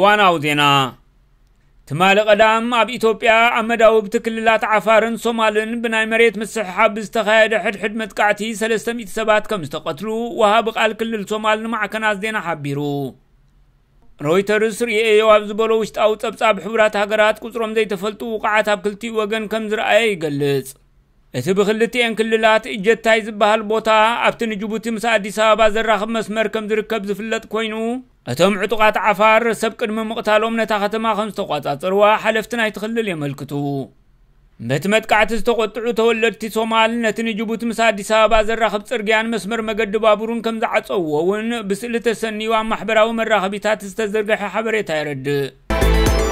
ዋናው ዜና። ትማሊ ቀዳም ኣብ ኢትዮጵያ ኣብ መዳውብቲ ክልላት ዓፋርን ሶማልን ብናይ መሬት ምስሕሓብ ብዝተኻየደ ሕድሕድ መጥቃዕቲ ሰለስተ ሚእቲ ሰባት ከም ዝተቐትሉ ወሃቢ ቃል ክልል ሶማል ንማዕከናት ዜና ሓቢሩ። ሮይተርስ ርእየዮ ኣብ ዝበሎ ውሽጣዊ ጸብጻብ፣ ሕቡራት ሃገራት ቁጽሮም ዘይተፈልጡ ውቃዓት ኣብ ክልቲኡ ወገን ከም ዝረኣየ ይገልጽ። እቲ ብክልቲኤን ክልላት እጀታይ ዝበሃል ቦታ ኣብቲ ንጅቡቲ ምስ ኣዲስ ኣበባ ዘራኽብ መስመር ከም ዝርከብ ዝፍለጥ ኮይኑ፣ እቶም ዕጡቓት ዓፋር ሰብ ቅድሚ ምቕታሎም ነታ ከተማ ከም ዝተቋጻጸርዋ ሓለፍቲ ናይቲ ክልል የመልክቱ። በቲ መጥቃዕቲ ዝተቆጥዑ ተወለድቲ ሶማል፣ ነቲ ንጅቡቲ ምስ ኣዲስ ኣበባ ዘራኽብ ጽርግያን መስመር መገዲ ባቡርን ከም ዝዓጸውዎ እውን ብስእሊ ተሰንዩ ኣብ ማሕበራዊ መራኸቢታት ዝተዘርግሐ ሓበሬታ የረድእ።